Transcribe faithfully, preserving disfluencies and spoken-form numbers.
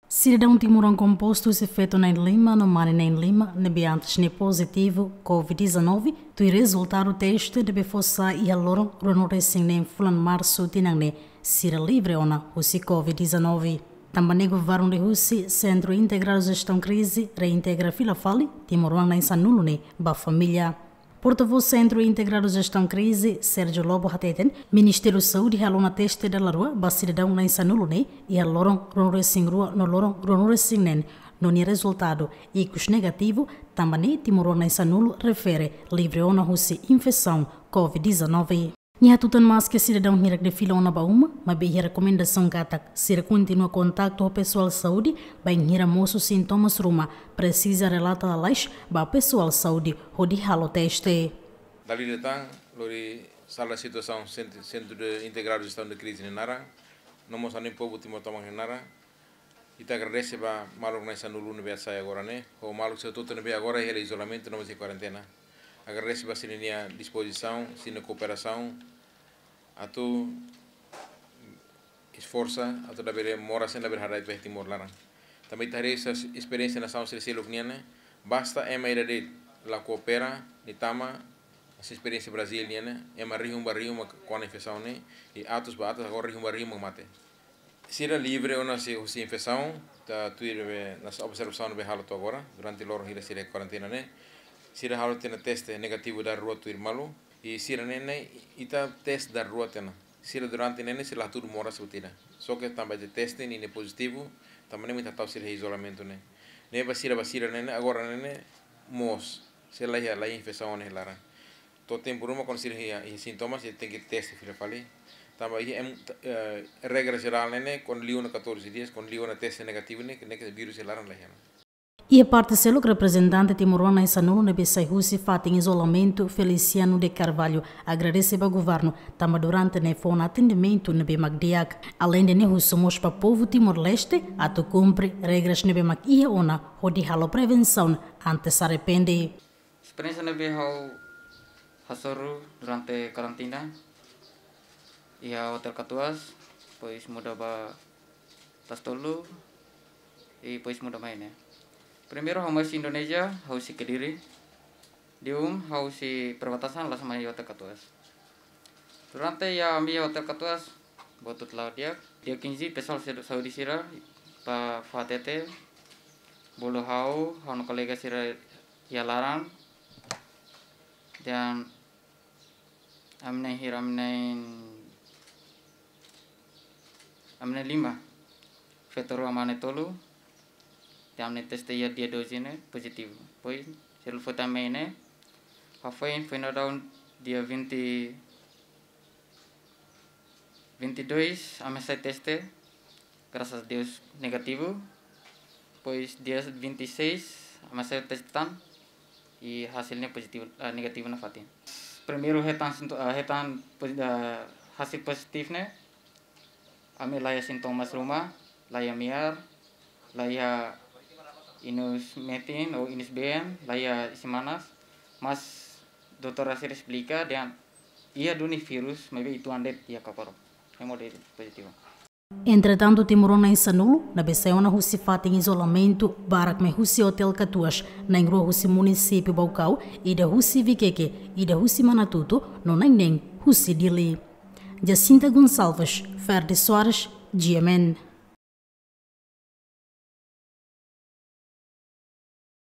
Sidadaun timoroan kompostu husi feto na'in-lima no mane na'in-lima ne'ebé antes ne'e pozitivu COVID dezanove, tuir rezultadu teste ne'ebé fó sai iha loron ruanulu-resin-neen fulan Marsu tinan ne'e, sira livre ona husi COVID dezanove. Tanba ne'e governu liuhusi Sentru Integradu Jestaun Krize reintegra fila fali timoroan na'in-sanulu ne'e ba família. Portavós Sentru Integradu Jestaun Krize, Sérgio Lobo hateten, Ministériu Saúde halo ona teste dala rua ba sidadaun na'in-sanulu ne'e iha loron ruanulu-resin-rua no loron ruanulu-resin-neen, no nia rezultadu ikus negativu, tanba ne'e timoroan na'in-sanulu refere livre ona husi infesaun COVID dezanove. Nia hatutan maske sidadaun hirak ne'e fila ona ba uma, maibé iha rekomendasaun katak sira kontinua kontaktu ho pesoál saúde, bainhira mosu sintomas ruma, presiza relata lalais ba pesoál saúde hodi halo teste. Dala ida tan, lori sala situasaun sent-, Sentru de Integradu Jestaun de Krize nia naran, no mós ha'u-nia povu Timor tomak nia naran. Ita agradese ba maluk na'in-sanulu ne'ebé sai agora ne'e, ho maluk sira hotu-hotu ne'ebé agora iha izolamentu no mós iha kuarentena. Agradese ba sira-nia dispozisaun, sira-nia kooperasaun, atu esforsa, atu labele moras, labele haraik ba Timor laran. Tanba ita haree esperiénsia nasaun sira seluk nian ne'e, basta ema ida de'it la koopera, nia tama, hanesan esperiénsia Brazil nian ne'e, ema rihun ba rihun mak kona infesaun ne'e, i atus ba atus, agora rihun ba rihun mak mate. Sira livre ona husi, husi infesaun, tanba tuir be, hanesan observasaun ne'ebé halo to'o agora, durante loron hira sira kuarentena ne'e. Sira halo tiha ona teste negativu dala rua tuir malu, i sira ne'e ne'e ita teste dala rua tiha ona. Sira durante ne'e ne'e sira la hatudu moras buat ida. Só ke tanba ita teste ne'e ne'e pozitivu, tanba ne'e mak ita tau sira iha izolamentu ne'e. Ne'e ba sira, ba sira ne'e ne'e, agora ne'e ne'e moos. Sira la iha, la iha infesaun iha laran. To'o tempu ruma kuandu sira iha, iha sintomas, sira tenke teste fila fali. Tanba iha em, eh, regra jerál ne'e ne'e, kuandu liu ona catorze dias, kuandu liu ona teste negativu ne'e, ne'e ke vírus iha laran la iha. Iha parte seluk, reprezentante timoroan na'in-sanulu ne'ebé sai husi fatin izolamentu, Feliciano de Carvalho, agradese ba governu, tanba durante ne'e fó ona atendimentu ne'ebé mak di'ak. Aleinde ne'e husu mós ba povu Timor-Leste atu kumpre regras ne'ebé mak iha ona hodi halo prevensaun antes arrepende. Esperiénsia ne'ebé ha'u hasoru durante karantina iha Hotel Katuas, depois muda ba Tasi Tolu, i depois muda mai ne'e. Primeiru ha'u mai husi Indonézia, ha'u husi Kediri. Depois ha'u husi perbatasan, la'ós mai Hotel Katuas. Durante iha ami Hotel Katuas, buat hotu la'o di'ak. Dia quinze, pesoál sira, saúde sira, ba fó hatete, bolu ha'u, ha'u-nia kolega sira iha laran, dan ami na'in hira, ami na'in, ami na'in lima. Feto rua, mane tolu. Dan ami teste iha dia doze ne'e pozitivu. Depois, selu fota mai ne'e, hafoin, foin daudaun dia vinte, vinte e dois, ami hasai teste, graças a Deus, negativu. Depois, dia vinte e seis, ami hasai teste tan, i hasilnya pozitivu, eh, negativu nafatin. Primeiru hetan sinto-, eh, hetan pozi-, eh, hasil pozitivu ne'e, ami la iha sintomas ruma, la iha miar, la iha inus metin ou inus been, la iha isin-manas, mas doutora sira esplika dehan iha duni vírus, maibé uitoan de'it iha kakorok. Hemu de'it pozitivu. Entretantu, timoroan na'in-sanulu ne'ebé sai ona husi fatin izolamentu, barak mai husi Hotel Katuas, na'in-rua husi munisípiu Baucau, ida husi Viqueque, ida husi Manatuto, no na'in-neen husi Dili. Jacinta Gonçalves, Ferdi Soares, G M N.